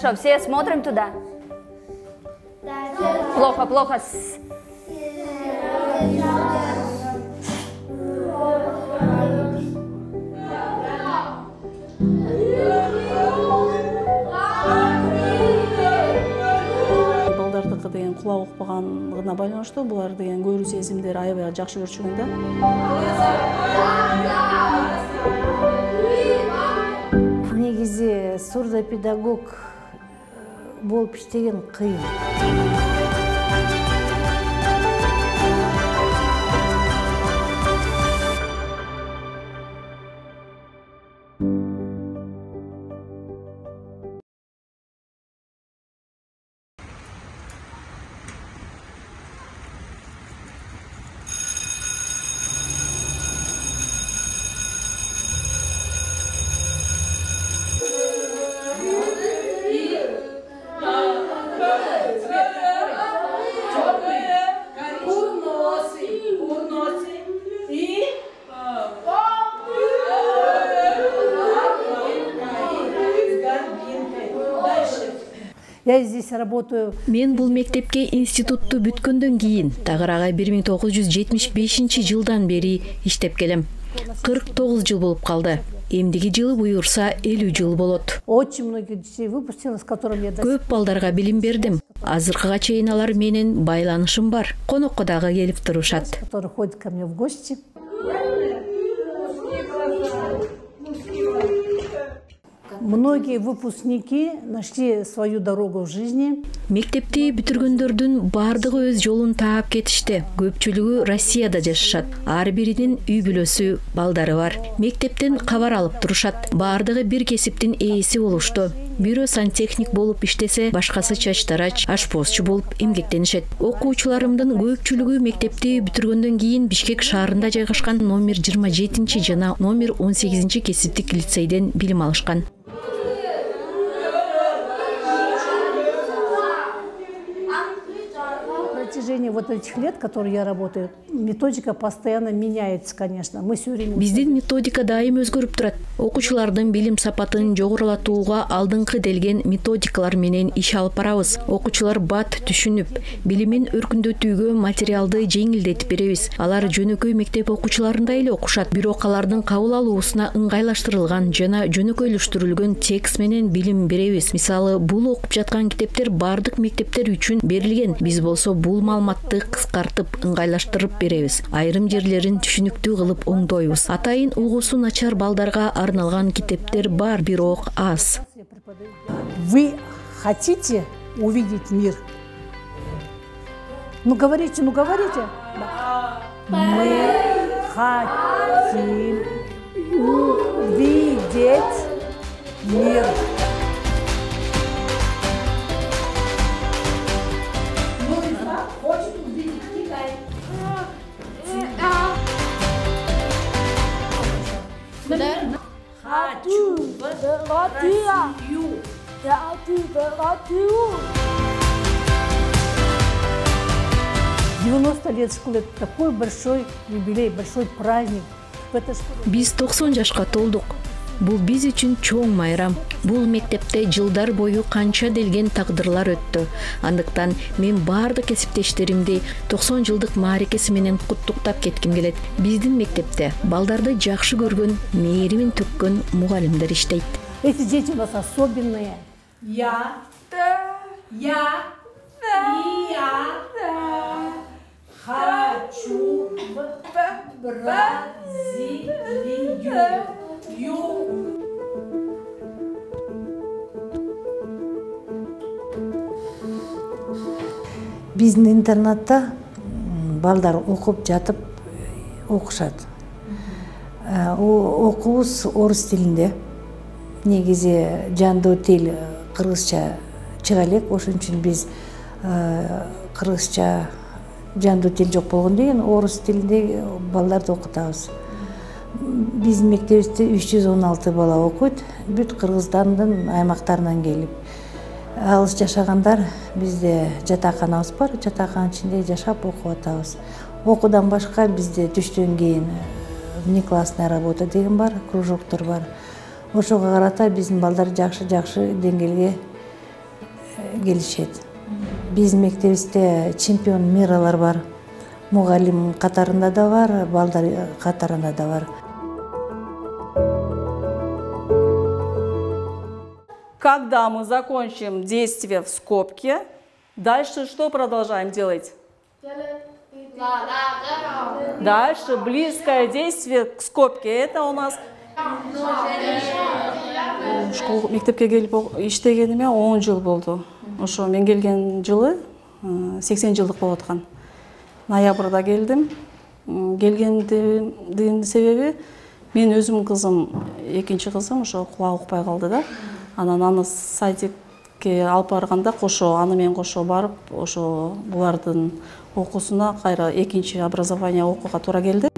Хорошо, все смотрим туда. Плохо, плохо. Балдардыкы деген кулак укпаганлыгына байланыштуу булар деген көрүү сезимдери аябай жакшы көрчүгөн да. Негизи сурдопедагог болуп иштеген кыйын. Я здесь работаю. Мен бул мектепке институтту бүткөндөн кийин тагыраагай 1975-жылдан бери иштеп келем. 49 жыл болуп калды. Эмдиги жылы буюрса 50 жыл болот. Очень многих детей выпустила, с которыми я Көп балдарга билим бердим. Азыркыга чейин алар менен байланышым бар. Конокко дагы келип турушат. Которые ходят ко мне в гости. Многие выпускники нашли свою дорогу в жизни. Мектепти бүтүргөндөрдүн бардыгы өз жолун таап кетишти. Көпчүлүгү Россияда жашашат. Ар биринин үй бүлөсү, балдары бар. Мектептен кабар алып турушат. Бардыгы бир кесиптин ээси болушту. Бирөө сантехник болуп иштесе, башкасы чачтарач, ашпозчу болуп эмгектенишет. Окуучуларымдын көпчүлүгү мектепти бүтүргөндөн кийин Бишкек шаарында жайгашкан номер 27 жана номер 18 кесиптик лицейден билим алышкан. На протяжении вот этих лет, которые я работаю, методика постоянно меняется, конечно. Мы все время... Биздин методика дайым өзгөрүп турат. Окуучулардын билим сапатын жогорулатууга алдыңкы делген методикалар менен иш алып барабыз. Окуучулар бат түшүнүп, билимин өркүндөтүүгө материалды жеңилдетип беребиз. Алар жөнөкөй мектеп окуучуларындай эле окушат. Бирок алардын кабыл алуусуна ыңгайлаштырылган жана жөнөкөйлөштүрүлгөн текст менен билим беребиз. Мисалы, бул окуп жаткан китептер бардык мектептер үчүн берилген. Биз болсо бул маалыматты кыскартып, ыңгайлаштырып беребиз. Айрым жерлерин түшүнүктүү кылып оңдойбуз. Атайын угуусу начар балдарга арналган китептер бар, бирок аз. Вы хотите увидеть мир? Ну говорите, ну говорите. Мы хотим увидеть мир. «90 лет школы» — это такой большой юбилей, большой праздник. Биз 90 жашка толдук. Бул биз үчүн чоң майрам. Бул мектепте жылдар бою канча делген тагдырлар өттү. Андыктан мен бардык кесиптештеримди 90 жылдык мааракеси менен куттуктап кетким келет. Биздин мектепте балдарды жакшы көргөн, мээримин төккөн мугалимдер иштейт. Эти дети у нас особенные. Я хочу в Бразилию. Биздин интернатта балдар окуп жатып окушат. Окуубуз орус тилинде. Негизи жандуу тил кыргызча чыга элек, ошон үчүн биз кыргызча жандуу тил жок болгондон кийин орус тилинде балдарды окутабыз. Биздин мектебибизде 316 бала окуйт, бүт Кыргызстандын аймактарынан келип. Алыс жашагандар бизде жатаканабыз бар, жатаканын ичинде жашап окуп атабыз. Окуудан башка бизде түштөн кийин внеклассная работа деген бар, кружоктор бар. Ошого карата биздин балдар жакшы деңгээлге келишет. Биздин мектебибизде чемпион миралар бар. Мугалим катарында да бар, балдар катарында да бар. Когда мы закончим действие в скобке, дальше что продолжаем делать? Дальше близкое действие к скобке. Это у нас... Мектепке келип иштегениме 10 жыл болду. Ошо мен келген жылы 80 жылдык болуп аткан. Ноябрда келдим. Келгендин себеби мен өзүм кызым, экинчи кызым ошо кулагы укпай калды да. Анан аны садикке алып барганда кошо, аны менен кошо барып, ошо булардын окуусуна кайра экинчи образование окууга туура келди.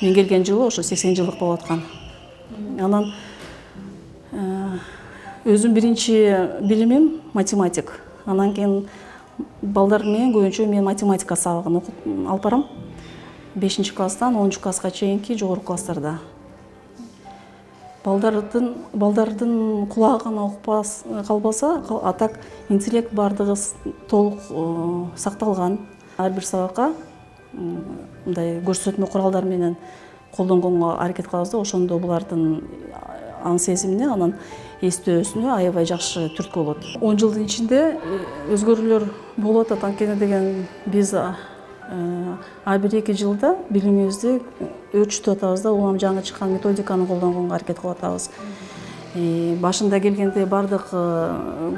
Мен келген жылы ошо 80 жылдык болуп аткан. Анан өзүм биринчи билимим математик. Анан кийин балдар менен көбүнчө мен математика сабагын алып барам. 5-класстан 10-класска чейинки жогорку класстарда. Балдардын кулагы гана укпас калбаса, а так интеллект бардыгы толук сакталган. Ар бир сабакка мындай көрсөтмө куралдар менен колдонгонго аракет кылабыз да, ошондо булардын ан сезимине, анан эстөөсүнө аябай жакшы түрткү болот. 10 жылдын ичинде өзгөрүүлөр болуп атат. Анткени деген биз ар бир 2 жылда билимибизди өөрчүтүп атабыз да, улам жаңы чыккан методиканы колдонгонго аракет кылып атабыз. Башында келгенде бардык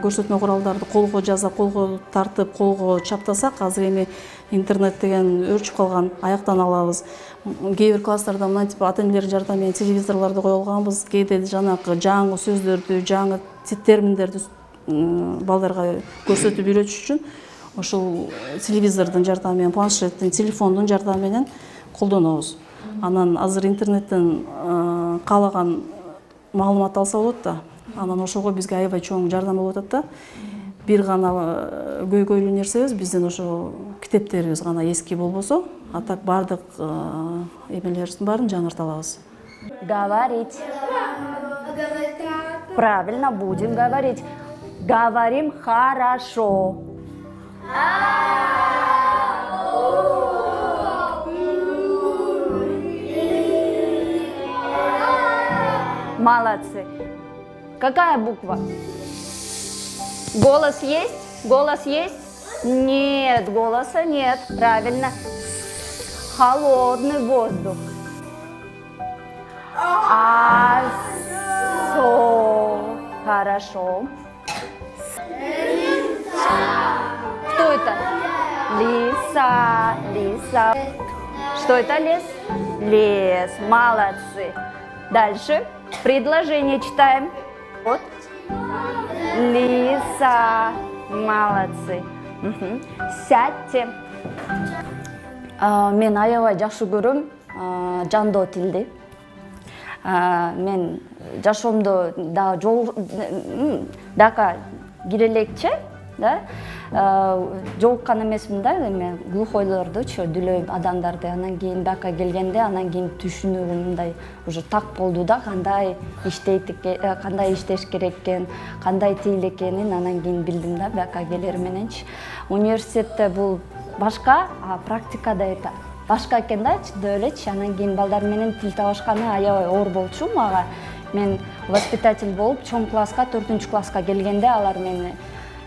көрсөтмө куралдарды колго жазып, колго тартып, колго чаптасак, азыр эми интернет деген өөрчүп калган, аяктан алабыз. Кээ бир класстарда мынтип ата-энелердин жардамы менен телевизорлорду коюп алганбыз. Кээде жанагы жаңы сөздөрдү, жаңы терминдерди балдарга көрсөтүп үйрөтүш үчүн ошол телевизордун жардамы менен, планшеттин, телефондун жардамы менен колдонобуз. Анан азыр интернеттен каалаган маалымат алса болот да. Анан ошого бизге аябай чоң жардам болуп атат да. Бир гана көйгөйлүү нерсебиз биздин ошо китептерибиз гана эски болбосо, а так бардык эмелерибиздин баарын жаңырта алабыз. Говорить. Правильно, будем говорить. Говорим хорошо. Молодцы. Какая буква? Голос есть? Голос есть? Нет, голоса нет. Правильно. Холодный воздух. Асо. Хорошо. Кто это? Лиса. Лиса. Что это лес? Лес. Молодцы. Дальше. Предложение читаем. Вот. Лиса. Молодцы. Сядьте. Мен аябай жакшы көрөм жандоо тилди. Мен жашоомдо да дака кирелекче, да, жолуккан эмесмин да, эме глухойлордучу, дүлөй адамдарды. Анан кийин дака келгенде, анан кийин түшүнүүгүм мындай уже так болду да, кандай иштеш керек экен, кандай тил экенин анан кийин билдим да, дака келер мененчи. Университетте бул башка, а практикада это башка экен да, элечи. Анан кийин балдар менен тил табышканы аябай оор болчу мага. Мен воспитатель болуп, чоң класска, 4-класска келгенде алар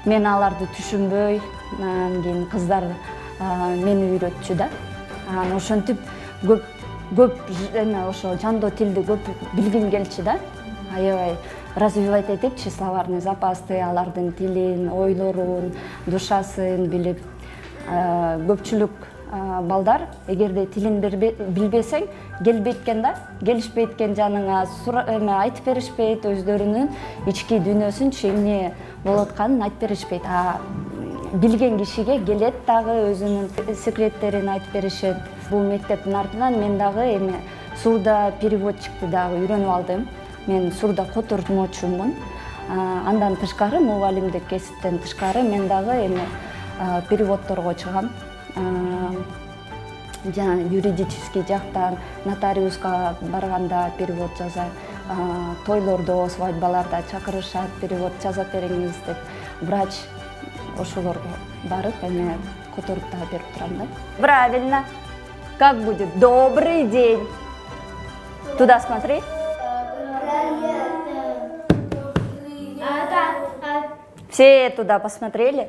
мен аларды түшүнбөй, анан кийин кыздар мени үйрөтчү да. Анан ошентип көп эме ошо жандоо тилди көп билгим келчү да. Аябай развивать этипчи словарный запасты, алардын тилин, ойлорун, душасын билип. Көпчүлүк балдар эгерде тилин билбесең, келбейт экен да, келишпейт экен жаныңа, эме айтып беришпейт, өздөрүнүн ички дүйнөсүнчү эмне болуп атканын айтып беришпейт. А билген кишиге келет дагы өзүнүн секреттерин айтып беришет. Бул мектептин артынан мен дагы эме сурда переводчикти дагы үйрөнүп алдым. Мен сурда котурмочумун. Андан тышкары, мугалимдик кесиптен тышкары мен дагы эме переводторго чыгам. Жана юридический жактан нотариуска барганда перевод жазам. Тойлордо, свадьбаларда чакырышат, перевод жазап бериңиз деп. Врач ошолорго барып эме которуп дагы берип турам да. Правильно. Как будет? Добрый день. Туда смотри. Все туда посмотрели?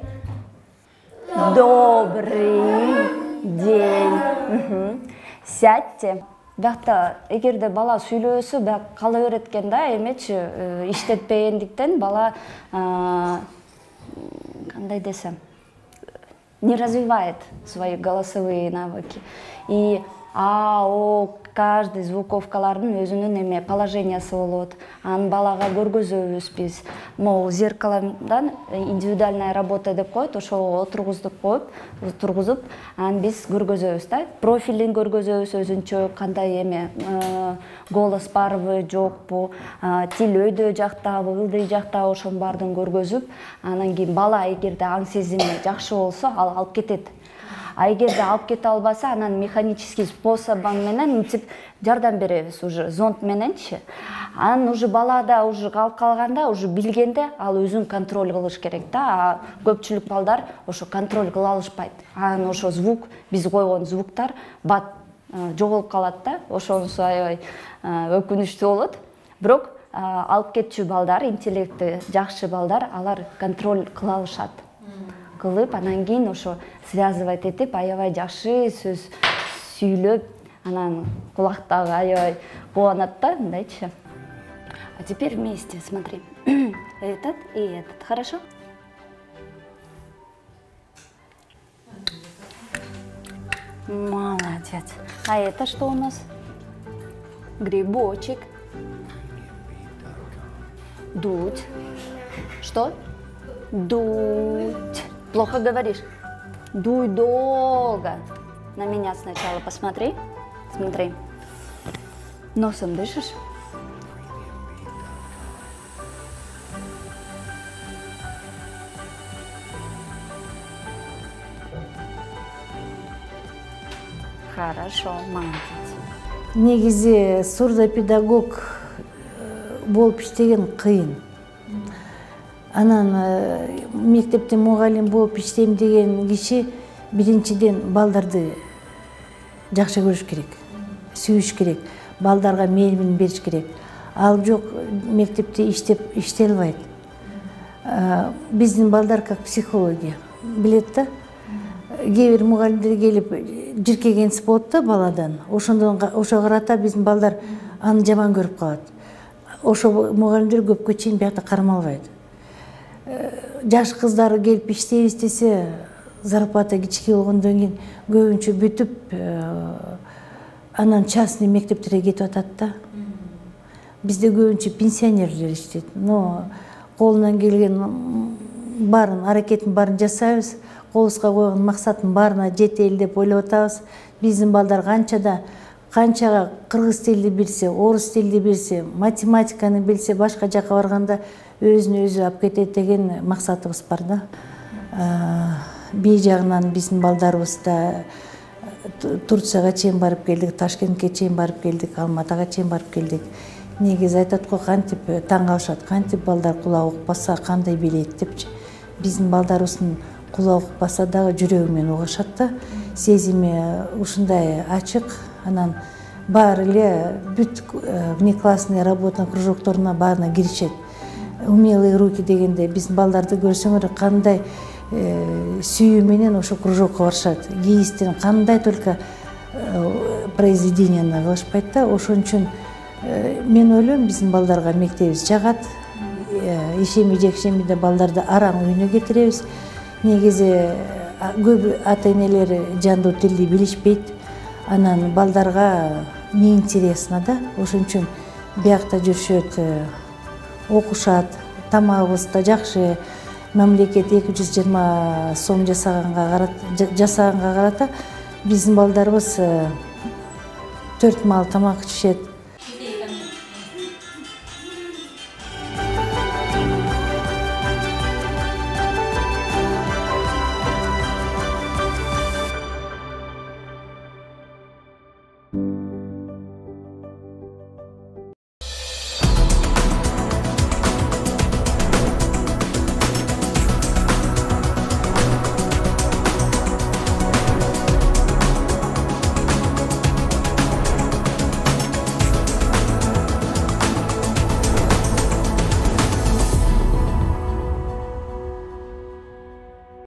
Добрый день. Сядьте. Бакта эгерде бала сүйлөөсө бак кала берет экен да, эмечи иштетпегендиктен бала кандай десем, не развивает свои голосовые навыки. И каждый звуковкалардын өзүнүн эме положениясы болот. Анын балага көргөзөбүз биз. Могу зеркалодан индивидуальная работа деп коет, ошого тургузуп, анан биз көргөзөбүз да. Профилин көргөзөбүз өзүнчө, кандай эме голос барбы, жокпу, тил өйдө жактабы, ылдый жактабы, ошонун баардыгын көргөзүп, анан кийин бала эгерде аң сезими жакшы болсо, ал алып кетет. А эгерде алып кете албаса, анан механический способун менен мынтип жардам беребиз уже зонд мененчи. Анан уже балада уже алып калганда, уже билгенде ал өзүн контроль кылыш керек да. А көпчүлүк балдар ошо контроль кыла алышпайт. Анан ошо звук, биз койгон звуктар бат жоголуп калат да. Ошонусу аябай өкүнүчтүү болот. Бирок алып кетчү балдар, интеллекти жакшы балдар, алар контроль кыла алышат. Кылып, анан кийин ошо связывать этип, аябай жакшы сөз сүйлөп, анан кулактагы аябай кубанат да, мындайчы. А теперь вместе, смотри. Этот и этот, хорошо? Молодец. А это что у нас? Грибочек. Дуть. Что? Дуть. Плохо говоришь? Дуй долго. На меня сначала посмотри. Смотри. Носом дышишь? Хорошо, молодец. Негизи сурдопедагог болуп иштеген кыйын. Анан мектепте мугалим болуп иштейм деген киши биринчиден балдарды жакшы көрүш керек, сүйүш керек, балдарга мээлин бериш керек. Ал жок, мектепте иштей албайт. Биздин балдар как психология билет да. Кээ бир мугалимдер келип жиркегенси болот да баладан. Ошого карата биздин балдар аны жаман көрүп калат. Ошо мугалимдер көпкө чейин биякта кармалбайт. Жаш кыздар келип иштейбиз десе, зарплата кичике болгондон кийин көбүнчө бүтүп, анан частный мектептерге кетип атат да. Бизде көбүнчө пенсионерлер иштейт. Но колунан келген баарын, аракеттин баарын жасайбыз. Колубузга койгон максаттын баарына жетели деп ойлоп атабыз. Биздин балдар канчага кыргыз тилди билсе, орус тилди билсе, математиканы билсе, башка жака барганда өзүн өзү алып кетет деген максатыбыз бар да. Бий жагынан биздин балдарыбыз да Турцияга чейин барып келдик, Ташкентке чейин барып келдик, Алматага чейин барып келдик. Негизи айтат го, кантип таң калышат, кантип балдар кулак укпаса кандай билет депчи. Биздин балдарыбыздын кулак укпаса дагы жүрөгү менен угушат да. Сезими ушундай ачык, анан баары эле бүт внеклассный работа кружокторуна баарына киришет. Умелые руки дегенде биздин балдарды көрсөңөр кандай сүйүү менен ошо кружокко барышат. Кийистен кандай только произведенияны кылышпайт да. Ошон үчүн мен ойлойм, биздин балдарга мектебибиз жагат. Ишемби-жекшембиде балдарды араң үйүнө кетиребиз. Негизи көп ата-энелер жандуу тилди билишпейт. Анан балдарга неинтересно да. Ошон үчүн биякта жүрүшөт, окушат, тамагыбыз да жакшы. Мамлекет 220 сом жасаганга карата биздин балдарыбыз 4 маал тамак ичишет.